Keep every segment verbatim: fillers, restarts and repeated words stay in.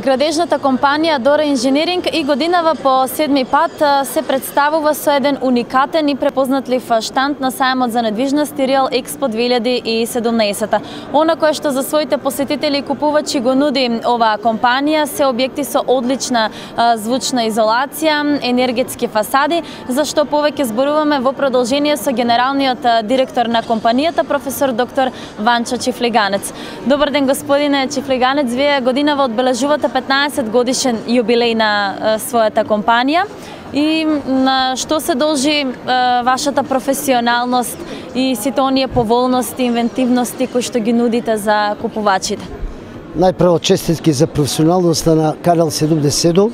Градежната компанија Дора Инженеринг и годинава по седми пат се представува со еден уникатен и препознатлив штанд на сајмот за недвижности Реал Експо две илјади и седумнаесета. Она кое што за своите посетители и купувачи го нуди оваа компанија се објекти со одлична звучна изолација, енергетски фасади, за што повеќе зборуваме во продолжение со генералниот директор на компанијата, професор доктор Ванчо Чифлиганец. Добар ден, господине Чифлиганец, вие годинава одбележувате петнаесет годишен јубилеј на е, својата компанија и на што се должи е, вашата професионалност и сите оние поволности, инвентивности кои што ги нудите за купувачите? Најпрво честитки за професионалноста на Канал седумдесет и седум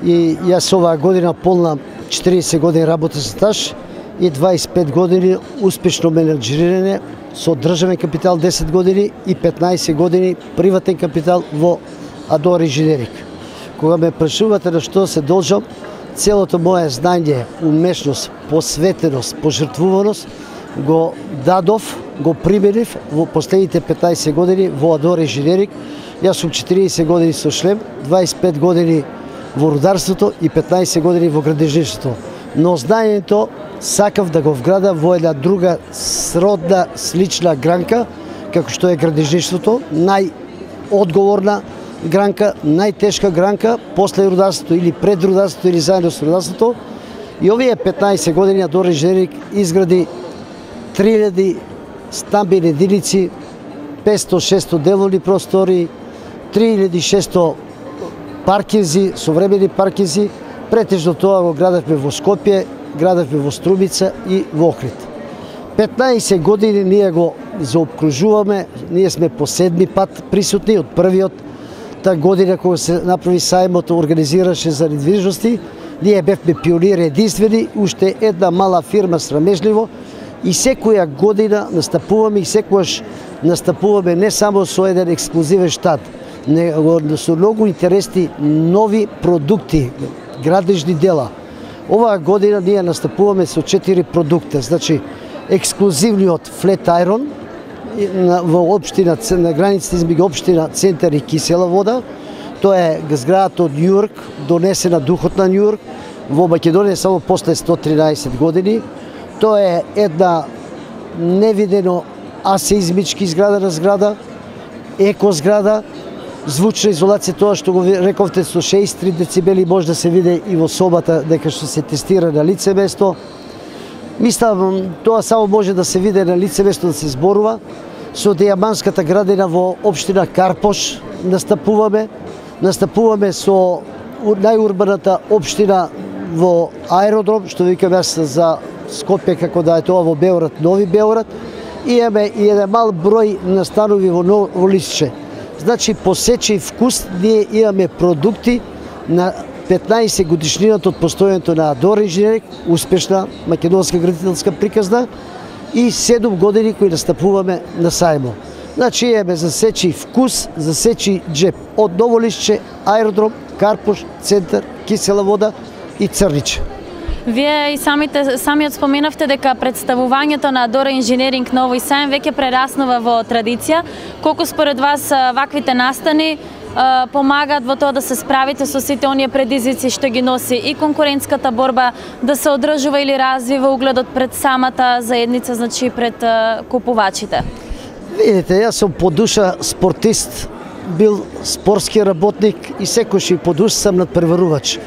и јас оваа година полна четириесет години работен стаж и дваесет и пет години успешно менеджиране со државен капитал десет години и петнаесет години приватен капитал во Дора Инженеринг. Кога ме прашувате на што се должам, целото моје знање, умешност, посветеност, пожртвуваност го дадов, го применив во последните петнаесет години во Дора Инженеринг. Јас сум четириесет години со шлем, дваесет и пет години во рударството и петнаесет години во градежништвото. Но знаењето сакав да го вграда во една друга сродна, слична гранка, како што е градежништвото, најодговорна гранка, најтешка гранка после рударството или пред рударството или заедно со рударството. И овие петнаесет години Дора Инженеринг изгради три илјади стамбени единици, петстотини до шестстотини деловни простори, три илјади и шестстотини паркинзи, современи паркинзи. Претежно тоа го градевме во Скопје, градевме во Струмица и во Охрид. петнаесет години ние го заобкружуваме, ние сме по седми пат присутни од првиот та година кога се направи сајмот, организираше за недвижности. Ние бевме пионири единствени, уште една мала фирма срамежливо и секоја година настапуваме и секогаш настапуваме не само со еден ексклузивен штат, него со многу интересни нови продукти, градежни дела. Оваа година ние настапуваме со четири продукта, значи ексклузивниот флет айрон во општина на границите измеѓу општина Центар и Кисела Вода. Тоа е зградата од Њујорк, донесена духот на Њујорк во Македонија само после сто тринаесет години. Тоа е една невидено асеизмички изградена зграда, еко зграда, звучна изолација, тоа што го рековте со шеесет и три децибели може да се види и во собата дека што се тестира на лице место. Мислам, тоа само може да се види на лице место да се зборува. Со дијаманската градина во општина Карпош настапуваме. Настапуваме со најурбаната општина во аеродром, што викам јас за Скопје како да е тоа во Београд, Нови Београд. И имаме и еден мал број настанови во, во Лисче. Значи, по сечи вкус ние имаме продукти на петнаесет годишнината од постојањето на Дора Инженеринг, успешна македонска градителска приказна и седум години кои настапуваме на сајмо. Значи, имаме за сечи вкус, за сечи джеп од Ново Лисче, аеродром, Карпош, Центар, Кисела Вода и Црниче. Вие и самите, самиот споменавте дека представувањето на Дора Инженеринг на овој сајм веќе прераснува во традиција. Колку според вас ваквите настани помагаат во тоа да се справите со сите оние предизвици што ги носи и конкурентската борба, да се одржува или развива угледот пред самата заедница, значи пред купувачите? Видите, јас сум по душа спортист, бил спортски работник и секојаш и по душа сам надпреварувач.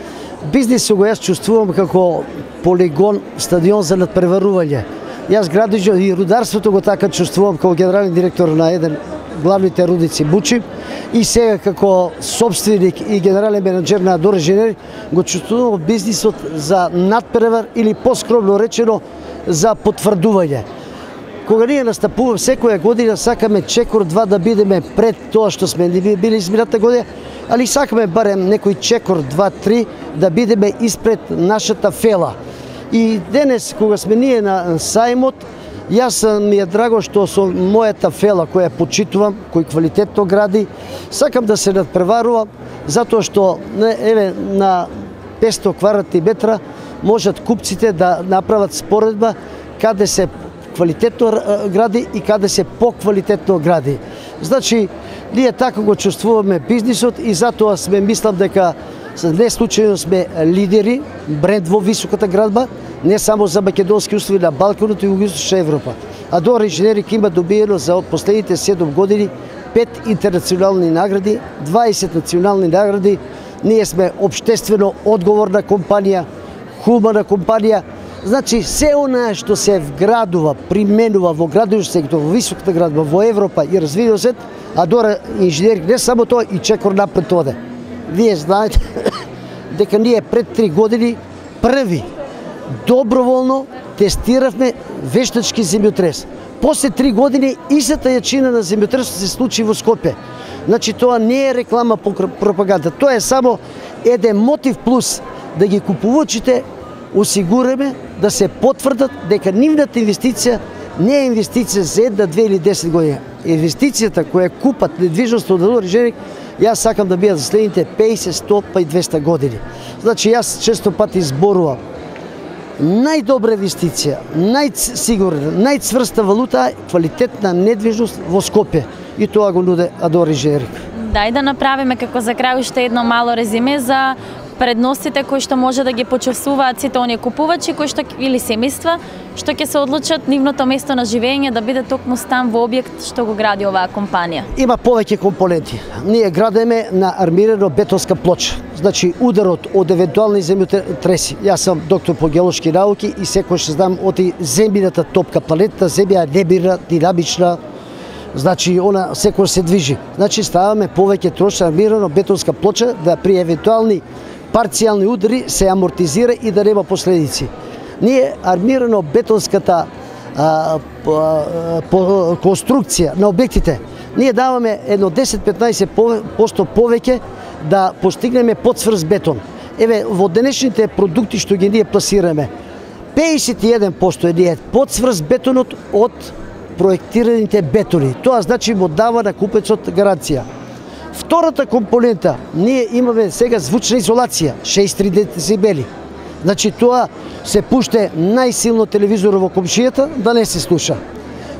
Бизнисот го јас чувствувам како полигон, стадион за надпреварување. Јас градежот и рударството го така чувствувам како генерален директор на еден главните рудници Бучим и сега како собственик и генерален менеджер на Дора Инженеринг го чувствувам бизнисот за надпревар или поскромно речено за потврдување. Кога ние настапуваме секоја година сакаме чекор два да бидеме пред тоа што сме били измината година, али сакаме барем некој чекор два-три да бидеме испред нашата фела. И денес кога сме ние на сајмот, јас ми е драго што со мојата фела која почитувам, кој квалитетно гради, сакам да се надпреварувам затоа што еве на петстотини квадратни метра можат купците да направат споредба каде се квалитетно гради и каде се поквалитетно гради. Значи, Ние така го чувствуваме бизнисот и затоа сме мислам дека не случајно сме лидери, бренд во високата градба, не само за македонски услови на Балканот и Југоисточна Европа. Адора Инженеринг има добиено за последните седум години пет интернационални награди, дваесет национални награди. Ние сме општествено одговорна компанија, хумана компанија. Значи, се онаа што се вградува, применува во градовиш сектор, во високата градба, во Европа и развиваниот свет, Адора Инженеринг не само тоа и чекор напред оде. Вие знаете дека ние пред три години први доброволно тестиравме вештачки земјотрес. После три години истата јачина на земјотресот се случи во Скопје. Значи тоа не е реклама пропаганда, тоа е само еден мотив плюс да ги купувачите осигураме да се потврдат дека нивната инвестиција не е инвестиција за една, две или десет години. Инвестицијата која купат недвижност од Адора Инженеринг, јас сакам да бидат за следните песет, сто па и двеста години. Значи јас често пати зборувам најдобра инвестиција, најсигурна, најцврста валута е квалитетна недвижност во Скопје и тоа го нуде Адора Инженеринг. Дај да направиме како за крај уште едно мало резиме за предностите кои што може да ги почувствуваат сите оние купувачи кои што или семејства што ќе се одлучат нивното место на живење да биде токму стан во објект што го гради оваа компанија. Има повеќе компоненти. Ние градиме на армирано бетонска плоча. Значи ударот од евентуални земјотреси. Јас сум доктор по геолошки науки и секојаш знам од земјината топка, планетата Земја е небирна, динамична. Значи она секој се движи. Значи ставаме повеќе трошна армирано бетонска плоча да при евентуални парцијални удари се амортизира и да нема последици. Ние армирано бетонската а, по, по, конструкција на објектите, ние даваме едно десет-петнаесет проценти повеќе да постигнеме подсврст бетон. Еве во денешните продукти што ги ние пласираме, пеесет и еден проценти е ние подсврст бетонот од проектираните бетони. Тоа значи му дава на купецот гаранција. Втората компонента, ние имаме сега звучна изолација, шест три децибели. Значи тоа се пуште најсилно телевизор во комшијата да не се слуша.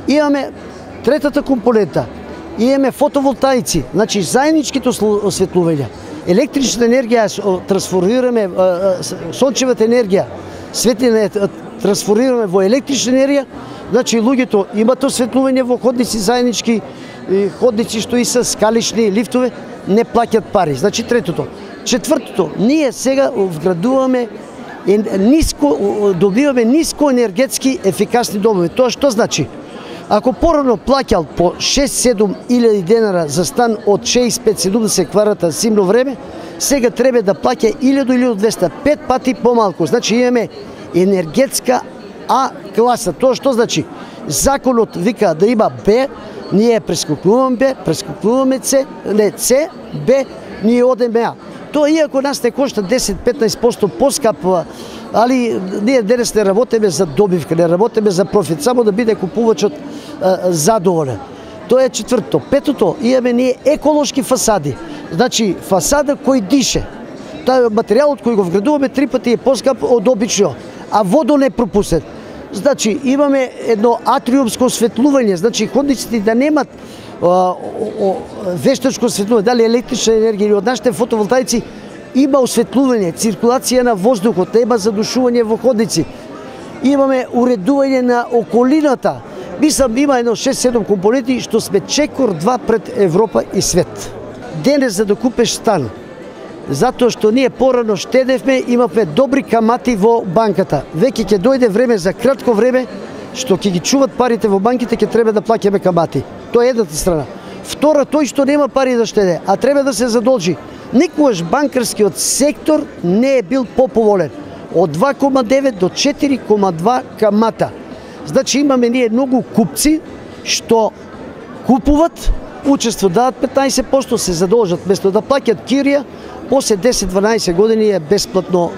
Имаме третата компонента, имаме фотоволтаици, значи заедничките осветлување. Електрична енергија трансформираме, сончевата енергија, светлина трансформираме во електрична енергија. Значи луѓето имат осветлување во ходници заеднички, ходници што и се скалични лифтове, не плаќат пари. Значи третото. Четвртото, ние сега вградуваме ниско, добиваме ниско енергетски ефикасни домови. Тоа што значи? Ако порано плаќал по шест-седум илјади денара за стан од шеесет и пет до седумдесет квадрата зимно време, сега треба да плаќа илјада до илјада и двеста, пет пати помалку. Значи имаме енергетска А класа. Тоа што значи? Законот вика да има Б, ние прескокнуваме Б, прескокнуваме С, не С, Б, ние одеме А. Тоа иако нас не кошта десет-петнаесет проценти поскапа, али ние денес не работиме за добивка, не работиме за профит, само да биде купувачот задоволен. Тоа е четвртото. Петото, имаме ние еколошки фасади. Значи фасада кој дише. Тај материјалот кој го вградуваме три пати е поскап од обично, а водонепропусен. Значи имаме едно атриумско осветлување, значи ходниците да немат а, о, вештачко осветлување, дали електрична енергија или од нашите фотоволтаици, има осветлување, циркулација на воздухот, нема задушување во ходници. Имаме уредување на околината. Мислам има едно шест-седум компоненти што сме чекор два пред Европа и свет. Денес за да купиш стан, затоа што ние порано штедевме, имавме добри камати во банката. Веќе ќе дојде време за кратко време што ќе ги чуват парите во банките, ќе треба да плаќаме камати. Тоа е едната страна. Втора, тој што нема пари да штеде, а треба да се задолжи. Никогаш банкарскиот сектор не е бил поповолен. Од два кома девет до четири кома два камата. Значи имаме ние многу купци што купуват, учество дадат петнаесет проценти, се задолжат, место да плаќат кирија, после десет-дванаесет години е бесплатно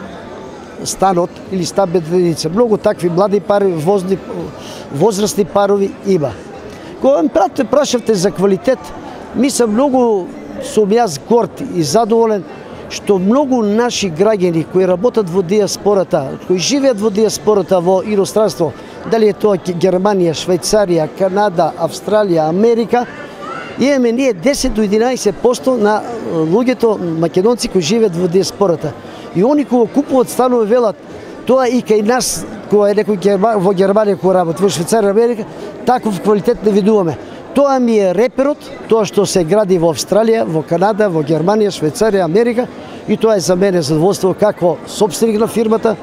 станот или стан без единица. Многу такви млади пари, возни, возрастни парови има. Кога ме прашавте за квалитет, мислам многу сум јас горд и задоволен што многу наши граѓани кои работат во диаспората, кои живеат во диаспората во иностранство, дали е тоа Германија, Швајцарија, Канада, Австралија, Америка, имаме ние десет до единаесет проценти на луѓето македонци кои живеат во диаспората. И они кога купуваат станови велат, тоа и кај нас, кога е некој во Германија кој работи, во Швајцарија, Америка, таков квалитет не видуваме. Тоа ми е реперот, тоа што се гради во Австралија, во Канада, во Германија, Швајцарија, Америка, и тоа е за мене задоволство како собственик на фирмата,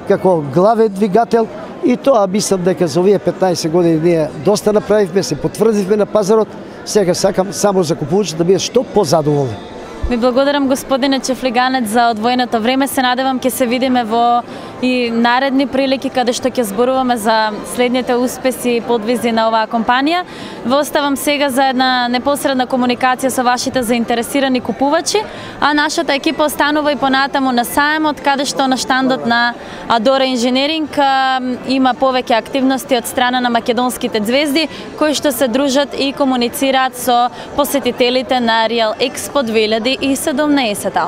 како главен двигател, и тоа мислам дека за овие петнаесет години ние доста направивме, се потврдивме на пазарот. Сега сакам само за купувачите да бидат што позадоволни. Ви благодарам, господине Чефлиганец, за одвоеното време. Се надевам ќе се видиме во и наредни прилики каде што ќе зборуваме за следните успеси и подвизи на оваа компанија. Ве оставам сега за една непосредна комуникација со вашите заинтересирани купувачи, а нашата екипа останува и понатаму на саемот, каде што на штандот на Адора Инженеринг има повеќе активности од страна на македонските звезди, кои што се дружат и комуницираат со посетителите на Real Expo две илјади и седумнаесета.